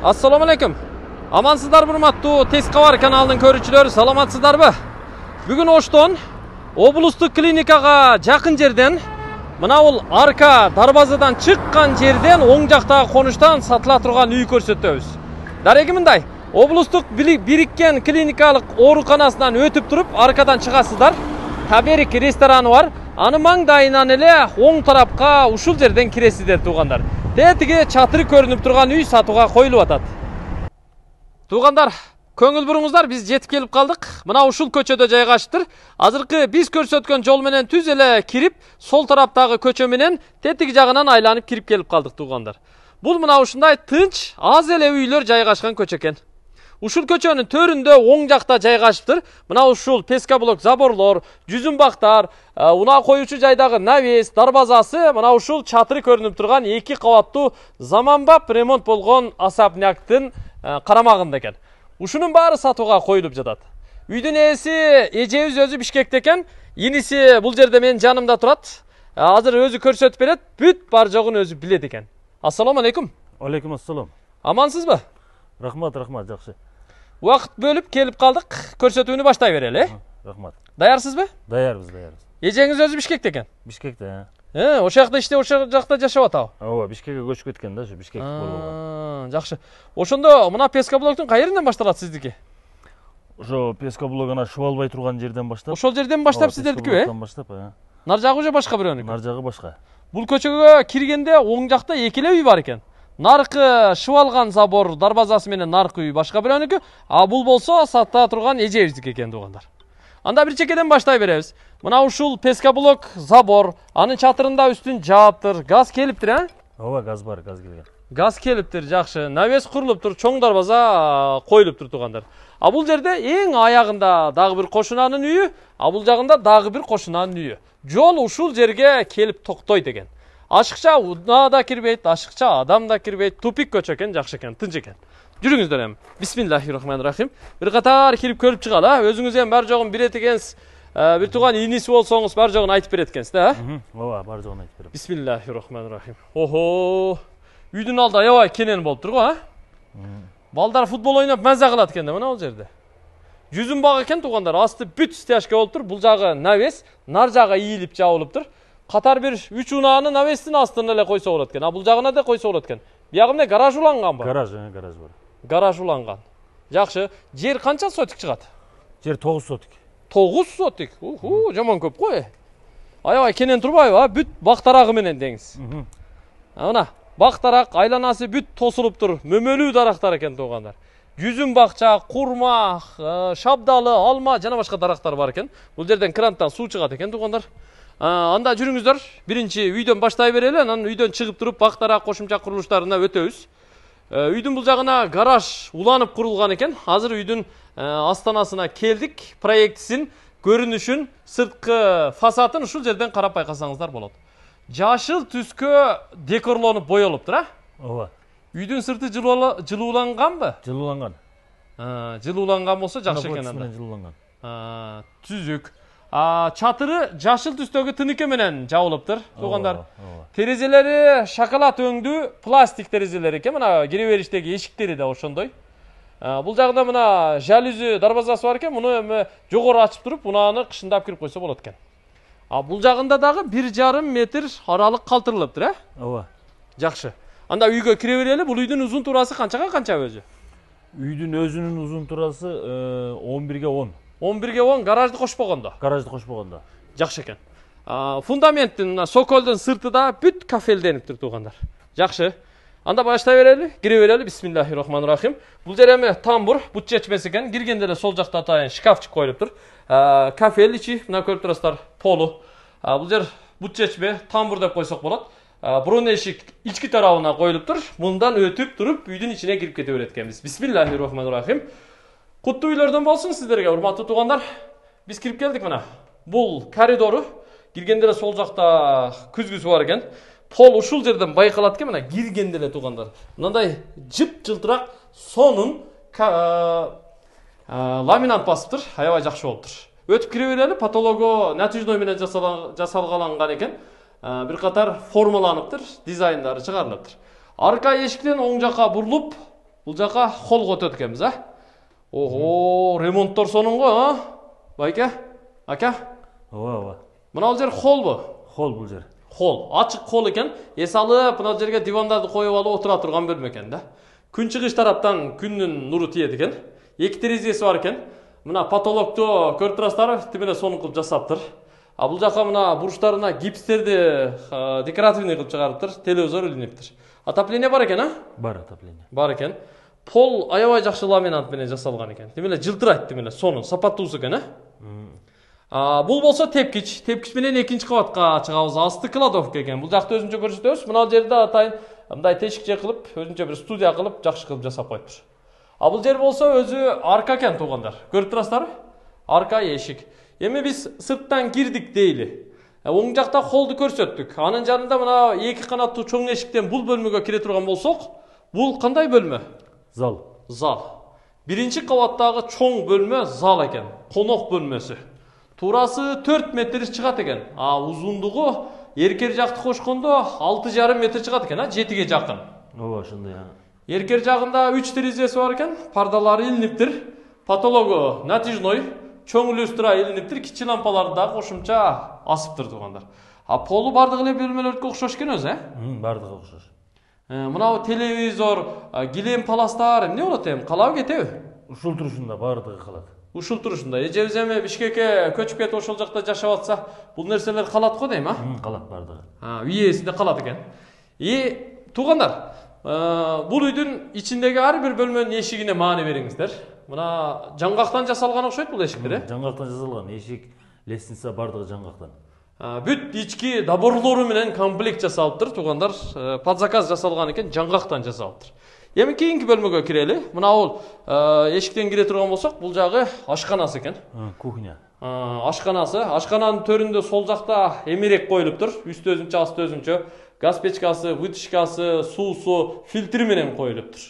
Assalomu alaykum. Amansızlar hurmattуу Tez Kabar kanalынын көрүүчүлөрү, саламатсыздарбы? Бүгүн Оштон облустук клиникага жакын жерден мына бул арка дарбазадан чыккан жерден оң жактагы конуштан сатыла турган үй көрсөтөбүз. Дареги мындай, облустук бириккен клиникалык ооруканасынан өтүп туруп аркадан чыгасыздар. Таберик рестораны бар. Аны маңдайынан эле оң тарапка ушул жерден киресиздер туугандар. Тетиги чатыры көрүнүп турган үй сатууга коюлуп атат. Туугандар, көңүл буруңуздар, биз жетип келип калдык. Мына ушул көчөдө жайгашыптыр. Азыркы биз көрсөткөн жол менен түз эле кирип, сол тараптагы көчө менен тетиги жагынан айланып кирип келип калдык туугандар. Бул мына ушундай тынч, аз эле үйлөр жайгашкан көчө экен. Ушул көчөнүн төрүндө оң жакта жайгашыптыр. Мына ушул пескаблок заборлор, жүзүмбактар, унаа коюучу жайдагы навес, дарбазасы, мына ушул чатыры көрүнүп турган 2 кабаттуу заманбап ремонт болгон особняктын карамагында экен. Ушунун баары сатууга коюлуп жатат. Үйдүн ээси эжебиз өзү Бишкекте экен. Иниси бул жерде менин жанымда турат. Азыр өзү көрсөтүп берет. Бүт бар жогун өзү билет экен. Ассаламу алейкум. Алейкум ассалам. Амансызбы? Рахмат, жакшы. Убакыт бөлүп келип калдык. Көрсөтүүнү баштай берели. Рахмат. Даярсызбы? Даярбыз. Эжеңиз өзү Бишкекте экен. Бишкекте. Ошол жакта иштеп, ошол жакта жашап атабы? Ооба, Бишкекке көчүп кеткен да, ошо Бишкек болгон. Жакшы. Ошондо мына пескаблоктун кайеринен башталат сиздики? Ошо пескаблок ана шубалбай турган жерден баштап. Ошол жерден баштап сиздердикиби? Баштап, Нар жагы уже башка бирөөнүкү? Нар жагы башка. Бул көчөгө киргенде оң жакта эки эле үй бар экен. Наркы шыбалган забор дарбазасы менен наркы үй башка бирөөнүкү, а бул болсо сатта турган эжебиздики экен туугандар. Анда бир чекеден баштай беребиз. Мына ушул пескаблок забор, анын чатырында үстүн жааптыр, газ келиптир, Ооба, газ бар, газ келген. Газ келиптир, жакшы. Навес курулуптур, чоң дарбаза коюлуптур туугандар. А бул жерде эң аягында дагы бир кошунанын үйү, а бул жагында дагы бир кошунанын үйү. Жол ушул жерге келип токтойт экен. Ашыкча унаа да кирбейт, ашыкча адам да кирбейт. Тупик көчө экен, жакшы экен, тынч экен. Жүрүңүздөр эми. Бисмиллахиррахманиррахим. Бир катар кирип көрүп чыгалы, өзүңүз эми бар жогун билет экенсиз. Бир туган иниси болсоңуз бар жогун айтып берет экенсиз да? Ооба, бар жогун айтып берем. Бисмиллахиррахманиррахим. Охо. Үйдүн алды аябай кенен болуп турго, Балдар футбол ойноп маза кылат экен да мына бул жерде. Жүзүм баг экен туугандар, асты бүт стяжка болуп тур. Бул жагы навес, нар жагы ийилип жабылып тур. Катар бир 3 унааны навестин астына эле койсо болот экен. А бул жагына да койсо болот экен. Биягы эмне гараж уланганбы? Гараж бар. Гараж уланган. Жакшы. Жер канча сотик чыгат? Жер 9 сотик. 9 сотик. Жаман көп кой. Аябай кенен турбайбы? Бүт бактарагы менен деңиз. Мына бактарак айланасы бүт тосулуп тур. Мөмөлүү дарактар экен туугандар. Жүзүм бакча, курма, шабдалы, алма жана башка дарактар бар экен. Бул жерден кранттан суу чыгат экен туугандар. Анда жүрүңүздөр. Биринчи үйдөн баштай берели, анан үйдөн чыгып туруп бактарак кошумча курулуштарына өтөбүз. Үйдүн бул жагына гараж уланып курулган экен. Азыр үйдүн астанасына келдик. Проектисин, көрүнүшүн, сырткы фасадын ушул жерден карап байкасаңыздар болот. Жашыл түскө декорлонуп боелуптур, Ооба. Үйдүн сырты жылууланганбы? Жылууланган. Жылууланган болсо жакшы экен анда. Жылууланган. Түзүк. Чатыры жашыл түстөгү тыныке менен жабылыптыр, туугандар. Терезелери шоколад өңдүү пластик терезелер экен. Мына кире бериштеги эшиктери да ошондой. Бул жагда мына жалюзи дарбазасы бар экен. Муну эми жогору ачып туруп, унааны кышындап кирип койсо болот экен. Бул жагында дагы 1,5 метр аралык калтырылыптыр, Ооба. Жакшы. Анда үйгө кире берели. Бул үйдүн узун турасы канчага канча өзү? Үйдүн өзүнүн узун турасы 11ге 10. 11ге 10 гаражды кошпогондо. Жакшы экен. Фундаменттин, соколдун сырты да бүт кафелдениптир туугандар. Жакшы. Анда баштай берели, кире берели. Бисмиллахиррахманиррахим. Бул жер эми тамбур, бут чечмеси экен. Киргенде эле сол жакта атайын шкафчык коюлуптур. Кафел ичи, мына көрүп турасыздар, полу. Бул жер бут чечме, тамбур деп койсок болот. Бурун эшик ички тарабына коюлуптур. Мындан өтүп туруп үйдүн ичине кирип кете берет экенбиз. Бисмиллахиррахманиррахим. Куттуу үйлөрдөн болсун сиздерге, урматтуу туугандар. Биз кирип келдик мына. Бул коридору. Киргенде эле сол жакта күзгүсү бар экен. Пол ушул жерден байкалат экен, мына киргенде эле туугандар. Мындай жып-жылтырак сонун ламинат басыптыр, аябай жакшы болуптур. Өтүп кире берели, потологу натяжной менен жасалгаланган экен. Бир катар формаланыптыр, дизайндары чыгарылыптыр. Арка эшиктен оң жакка бурулуп, бул жака холго өтөт экенбиз, а? Ого, ремонттор сонунго, а? Байке, ака? Ооба. Мына бул жер холбу? Хол бул жер. Хол, ачык хол экен. Эс алып, мына жерге дивандарды коюп алып отура турган бөлмө экен да. Күн чыгыш тараптан күндүн нуру тиет экен. 2 терезеси бар экен. Мына потолокто көрүп турасыздар, тимеле сонун кылып жасаптыр. А бул жака мына бурчтарына гипстерди декоративный кылып чыгарыптыр, телевизор илиниптир. Отопление бар экен, а? Бар отопление. Бар экен. Пол аябай жакшы ламинат менен жасалган экен. Тимеле жылтырайт, тимеле сонун, сапаттуусу экен, а? Бул болсо тепкич. Тепкич менен экинчи кабатка чыгабыз. Асты кладовка экен. Бул жакты өзүнчө көрсөтөбүз. Мына жерде атайын мындай тешикче кылып, өзүнчө бир студия кылып, жакшы кылып жасап коюптур. А бул жер болсо өзү арка экен туугандар. Көрүп турасыздарбы? Арка эшик. Эми биз сырттан кирдик дейли. Оң жакта холду көрсөттүк. Анын жанында мына 2 канаттуу чоң эшиктен бул бөлмөгө кире турган болсок, бул кандай бөлмө? Зал. Зал. Биринчи кабаттагы чоң бөлмө зал экен. Конок бөлмөсү. Турасы 4 метр чыгат экен. А узундугу эркер жакты кошкондо 6,5 метр чыгат экен, а 7ге жакын. Ооба, ошондой. Эркер жагында 3 терезеси бар экен, пардалары илиниптир. Потологу натяжной, чоң люстра илиниптир, кичи лампаларды да кошумча асыптыр туугандар. А полу бардык эле бөлмөлөргө окшош экен өзү, Бардыгы окшош. Мына телевизор, килем паластар эмне болот эми? Калабы кетеби? Ушул турушунда бардыгы калат. Ушул турушунда. Эжебиз эми Бишкекке көчүп кетип ошол жакта жашап атса, бул нерселер калат го дейм, а? Калат бардыгы. Үйесинде калат экен. Туугандар, бул үйдүн ичиндеги ар бир бөлмөнүн эшигине маани бериңиздер. Мына жаңгактан жасалган окшойт бул эшиктер, Жаңгактан жасалган эшик, лестница бардыгы жаңгактан. Бүт ички доборлору менен комплект жасалыптыр, туугандар. Под заказ жасалган экен, жаңгактан жасалыптыр. Эми кийинки бөлмөгө кирели. Мына бул эшиктен кире турган болсок, бул жагы ашканасы экен. Кухня. Ашканасы. Ашкананын төрүндө сол жакта эмерек коюлуптур. Үстү өзүнчө, асты өзүнчө. Газ печкасы, вытяжкасы, суусу, фильтри менен коюлуптур.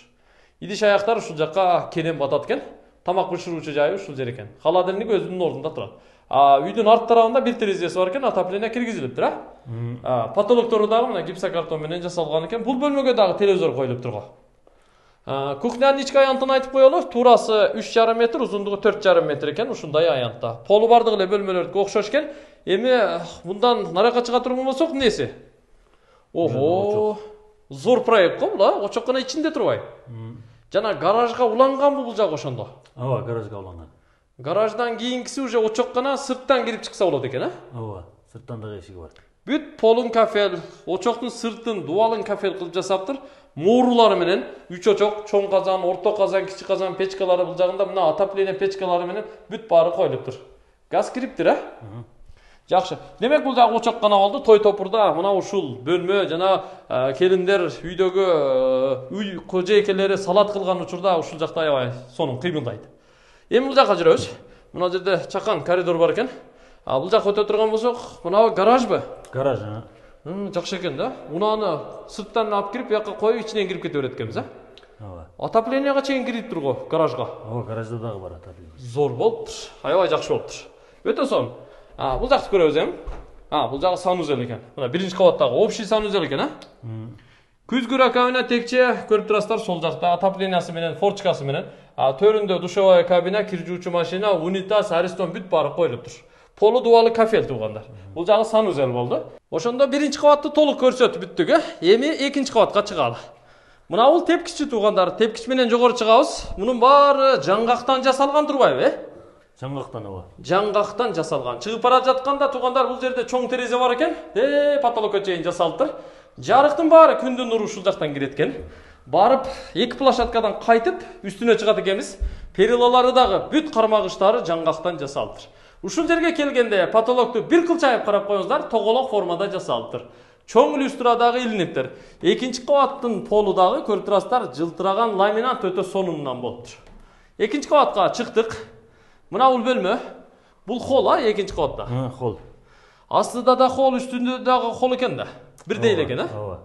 Идиш аяктар ушул жакка кенен батат экен. Тамак бышыруучу жайы ушул жер экен. Холодильник өзүнүн ордунда турат. Үйдүн арт тарабында 1 терезеси бар экен, отопление киргизилиптир, Потолоктору дагы мына гипсокартон менен жасалган экен. Бул бөлмөгө дагы телевизор коюлуптур го. Кухнянын ички аянтын айтып коелу. Турасы 3,5 метр, узундугу 4,5 метр экен, ушундай аянтта. Полу бардык эле бөлмөлөрдүкө окшош экен. Эми мындан наракка чыга турган болсок, эмнеси? Ого, зор проект го бул, очок гана ичинде турбайбы? Жана гаражга уланган бул жак ошондо. Ооба, гаражга уланган. Гараждан кийинкиси уже очок гана сырттан кирип чыкса болот экен, Ооба, сырттан дагы эшиги бар. Бүт полун кафел, очоктун сыртын дубалын кафел кылып жасаптыр. Моорулары менен 3 очок, чоң казан, орто казан, кичи казан печкалары бул жагында мына отопление печкалары менен бүт баары коюлуптур. Газ кириптир, Жакшы. Демек бул жагы очок гана болду. Той топурда мына ушул бөлмө жана келиндер үйдөгү үй кожойкелери салат кылган учурда ушул жакта аябай сонун кыймылдайт. Эми бул жакка жүрөбүз. Мына жерде чакан коридор бар экен. Бул жакка өтө турган болсок, мына гаражбы? Гараж, Жакшы экен да. Унааны сырттан алып кирип, бияка коюп, ичинен кирип кете берет экенбиз, Ооба. Отоплениега чейин кириптир го гаражга. Ооба, гаражда дагы бар отопление. Зор болуптур. Аябай жакшы болуптур. Өтө сонун. Бул жакты көрөбүз эми. Бул жагы санузел экен. Мына биринчи кабаттагы общий санузел экен, Күзгү раковина текче көрүп турасыздар, сол жакта отоплениясы менен, форчкасы менен. Төрүндө душевая кабина, кир жуучу машина, унитаз, аристон бүт баары коюлуптур. Полу дубалы кафел туугандар. Бул жагы санузел болду. Ошондо биринчи кабатты толук көрсөтүп бүттүк, Эми экинчи кабатка чыгалы. Мына бул тепкичи туугандар. Тепкич менен жогору чыгабыз. Мунун баары жаңгактан жасалган турбайбы, Жаңгактан, ооба. Жаңгактан жасалган. Чыгып бара жатканда туугандар бул жерде чоң терезе бар экен. Потолокко чейин жасалыптыр. Жарыктын баары күндүн нуру ушул жактан кирет экен. Барып, 2 площадкадан кайтып, үстүнө чыгат экенбиз. Перилалары дагы бүт кармагыштары жаңгактан жасалыптыр. Ушул жерге келгенде потолокту бир кылчайып карап коюңуздар, тоголок формада жасалыптыр. Чоң люстра дагы илиниптир. Экинчи кабаттын полу дагы көрүп турасыздар, жылтыраган ламинат өтө сонундан болуптур. Экинчи кабатка чыктык. Мына бул бөлмө. Бул холл, экинчи кабатта. Холл. Астыда да холл, үстүндө дагы холл экен да. Бирдей эле экен, Ооба.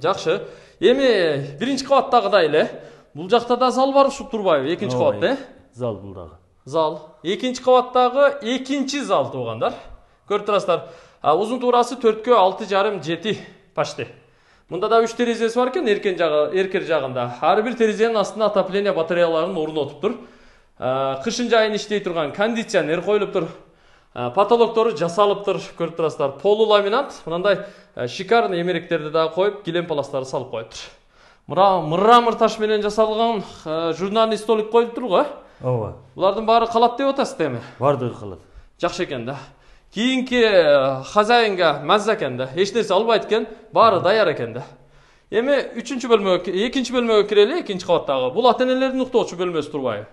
Жакшы. Эми биринчи кабаттагыдай эле. Бул жакта да зал бар ушул турбайбы? Экинчи кабатта, Зал бул дагы. Зал. Экинчи кабаттагы экинчи зал туугандар. Көрүп турасыздар. Узун туурасы 4-кө 6,5-7 почти. Мында да 3 терезеси бар экен эркер жагында. Ар бир терезенин астында отопление батареяларын орнотуптур. Кышын жайын иштей турган кондиционер коюлуптур. Потолоктору жасалыптыр, көрүп турасыздар. Полуламинат, мындай шикарный эмеректерди да коюп, килем паластарды салып коюптур. Мрамор таш менен жасалган журнальный столик коюлуптур го. Ооба. Булардын баары калат деп атасыз эми. Бардыгы калат. Жакшы экен да. Кийинки хозяинга маза экен да. Эч нерсе албайт экен, баары даяр экен да. Эми 3-чү бөлмөгө, 2-нчи бөлмөгө кирели, 2-нчи кабаттагы. Бул ата-энелердин уктоочу бөлмөсү турбайбы?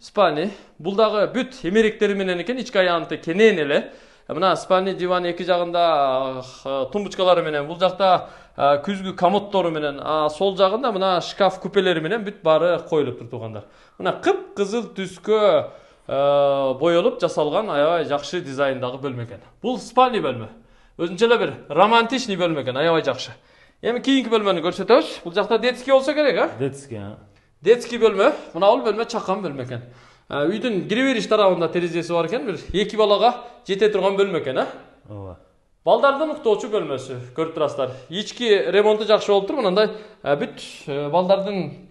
Спальни. Бул дагы бүт эмеректери менен экен, ички аянты кенен эле. Мына спальни диван эки жагында тумбочкалары менен, бул жакта күзгү комодтору менен, сол жагында мына шкаф купелери менен бүт баары коюлуптур туугандар. Мына кып-кызыл түскө боелуп жасалган аябай жакшы дизайндагы бөлмө экен. Бул спальни бөлмө. Өзүнчө эле бир романтичный бөлмө экен, аябай жакшы. Эми кийинки бөлмөнү көрсөтөбүз. Бул жакта детский болсо керек, а? Детский бөлмө. Мына бул бөлмө чакан бөлмө экен. Үйдүн кире бериш тарабында терезеси бар экен, бир 2 балага жете турган бөлмө экен, а? Ооба. Балдардын уктоочу бөлмөсү, көрүп турасыздар. Ички ремонту жакшы болуптур. Мындай бүт балдардын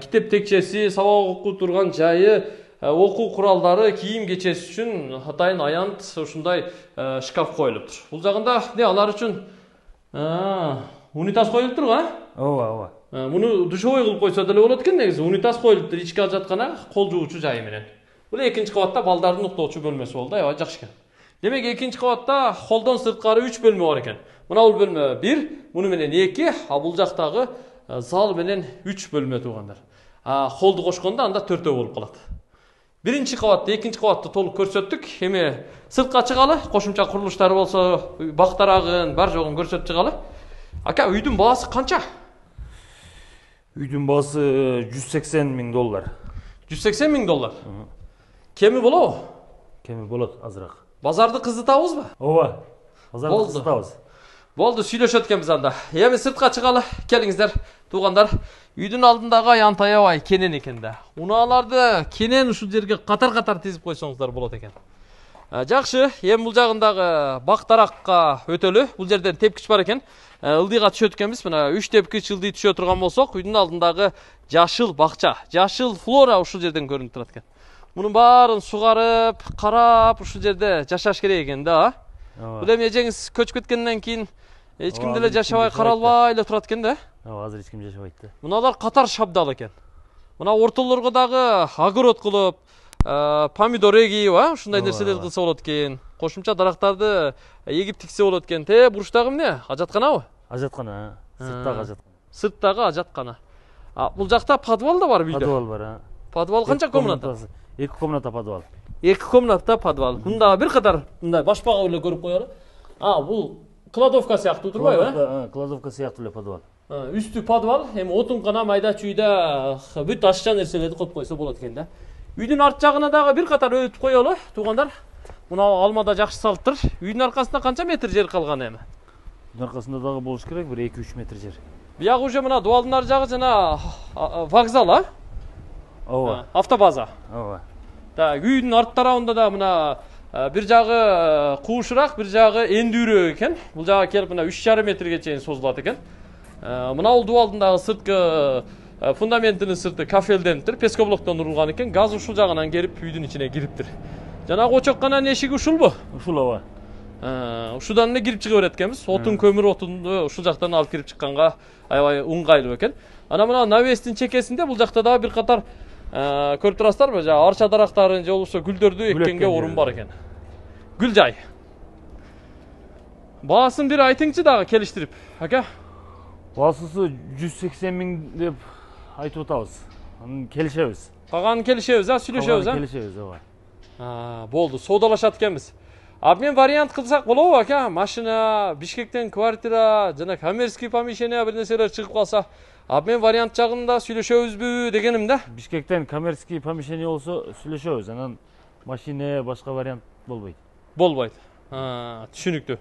китеп текчеси, сабак окуу турган жайы, окуу куралдары, кийим кечеси үчүн атайын аянт ушундай шкаф коюлуптур. Бул жагында алар үчүн унитаз коюлуптур го, а? Ооба. Муну душевой кылып койсо деле болот экен, негизи унитаз коюлуптур ички ажаткана, кол жуучу жайы менен. Бул 2-нчи кабатта балдардын уктоочу бөлмөсү болду, аябай жакшы экен. Демек 2-нчи кабатта холдон сырткары 3 бөлмө бар экен. Мына бул бөлмө 1, муну менен 2, бул жактагы зал менен 3 бөлмө туугандар. Холду кошкондо анда 4 болуп калат. 1-нчи кабатты, 2-нчи кабатты толук көрсөттүк. Эми сыртка чыгалы, кошумча курулуштары болсо, бактарагын, бар жогун көрсөтүп чыгалы. Ака, үйдүн баасы канча? Үйдүн баасы $180,000. $180,000. Кеми болобу? Кеми болот, азыраак. Базарды кыздытабызбы? Ооба. Базарды кыздытабыз. Болду, сүйлөшөт экенбиз анда. Эми сыртка чыгалы, келиңиздер, туугандар. Үйдүн алдындагы аянт аябай кенен экен да. Унааларды кенен ушул жерге катар-катар тизип койсоңуздар болот экен. Жакшы, эми бул жагындагы бактаракка өтөлү. Бул жерден тепкич бар экен. Ылдыйга түшөт экенбиз. Мына 3 тепкич ылдый түшө турган болсок, үйдүн алдындагы жашыл бакча, жашыл флора ушул жерден көрүнүп турат экен. Мунун баарын сугарып, карап ушул жерде жашаш керек экен да. Бул эми эжеңиз көчүп кеткенден кийин эч ким деле жашабай каралбай эле турат экен да. Ооба, азыр эч ким жашабайт да. Муналар катар шабдал экен. Мына ортолорго дагы огород кылып, помидор эгип, ушундай нерселер кылса болот экен. Кошумча дарактарды эгип тиксе болот экен. Буруштагы эмне? Ажатканабы? Ажаткана, сырттагы ажаткана. Сырттагы ажаткана. Бул жакта подвал да бар үйдө. Подвал бар, Подвал канча комната? 2 комната подвал. 2 комната подвал. Мында бир катар мындай башпага эле көрүп коелу. Бул кладовка сыяктуу турбайбы? Кладовка сыяктуу эле подвал. Үстү подвал, эми отункана, майда чүйдө бүт ашча нерселерди коюп койсо болот экен да. Үйдүн арт жагына дагы бир катар өтүп коелу, туугандар. Мына алмада жакшы салыптыр. Үйдүн аркасында канча метр жер калган эми? Үйдүн аркасында дагы болуш керек, бир 2-3 метр жер. Биягы уже мына дуалдын ар жагы жана вокзал, а? Ооба. Автобаза. Ооба. Так, үйдүн арт тарабында да мына бир жагы куушураак, бир жагы эндүүрөөк экен. Бул жага келип мына 3,5 метрге чейин созулат экен. Мына бул дуалдын дагы сырткы фундаментинин сырты кафелдениптир, пескоблоктон урулган экен. Газ ушул жагынан келип үйдүн ичине кириптир. Жанагы очоккананын эшиги ушулбу? Ушул ооба. Ушудан эле кирип чыга берет экенбиз. Отун, көмүр отунду ушул жактан алып кирип чыкканга аябай ыңгайлуу экен. Ана мына навестин чекесинде бул жакта дагы бир катар көрүп турасыздарбы? Жана арча дарактарын же болбосо гүлдөрдү эккенге орун бар экен. Гүл жай. Баасын бир айтыңчы дагы келиштирип, ака. Баасысы 180,000 деп айтып атабыз. Аны келишебиз. Калганын келишебиз, сүйлөшөбүз, Келишебиз, ооба. Болду, соодалашат экенбиз. Мен вариант кылсак болобу, ака? Машина, Бишкектен квартира, жана коммерческий помещение бир нерселер чыгып калса, мен вариант жагында сүйлөшөбүзбү дегеним да. Бишкектен коммерческий помещение болсо сүйлөшөбүз, анан машина башка вариант болбойт. Болбойт. Түшүнүктүү.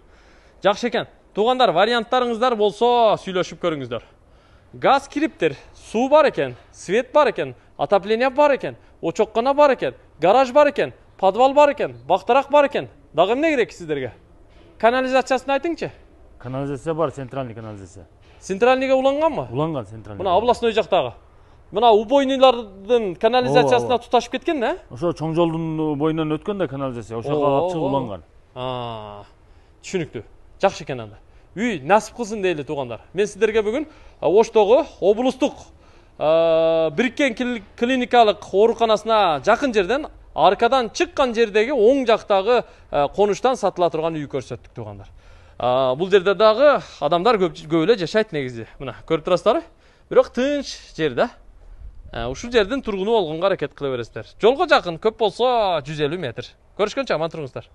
Жакшы экен. Туугандар, варианттарыңыздар болсо сүйлөшүп көрүңүздөр. Газ кириптир, суу бар экен, свет бар экен, отопление бар экен, очоккана бар экен, гараж бар экен, подвал бар экен, бактарак бар экен. Дагы эмне керек сиздерге? Канализациясын айтыңчы. Канализация бар, центральный канализация. Центральныйга уланганбы? Уланган центральный. Мына областной жактагы. Мына убойныйлардын канализациясына туташып кеткен да? Ошо чоң жолдун боюнан өткөн да канализация, ошого алып чыгып уланган. Түшүнүктүү. Жакшы экен анда. Үй насип кылсын дейли туугандар. Мен сиздерге бүгүн Оштогу облустук бириккен клиникалык ооруканасына жакын жерден аркадан чыккан жердеги оң жактагы конуштан сатыла турган үй көрсөттүк туугандар. Бул жерде дагы адамдар көп эле жашайт негизи. Мына көрүп турасыздар. Бирок тынч жер да. Ушул жердин тургуну болгонго аракет кыла бересиздер. Жолго жакын, көп болсо 150 метр. Көрүшкөнчө аман туруңуздар.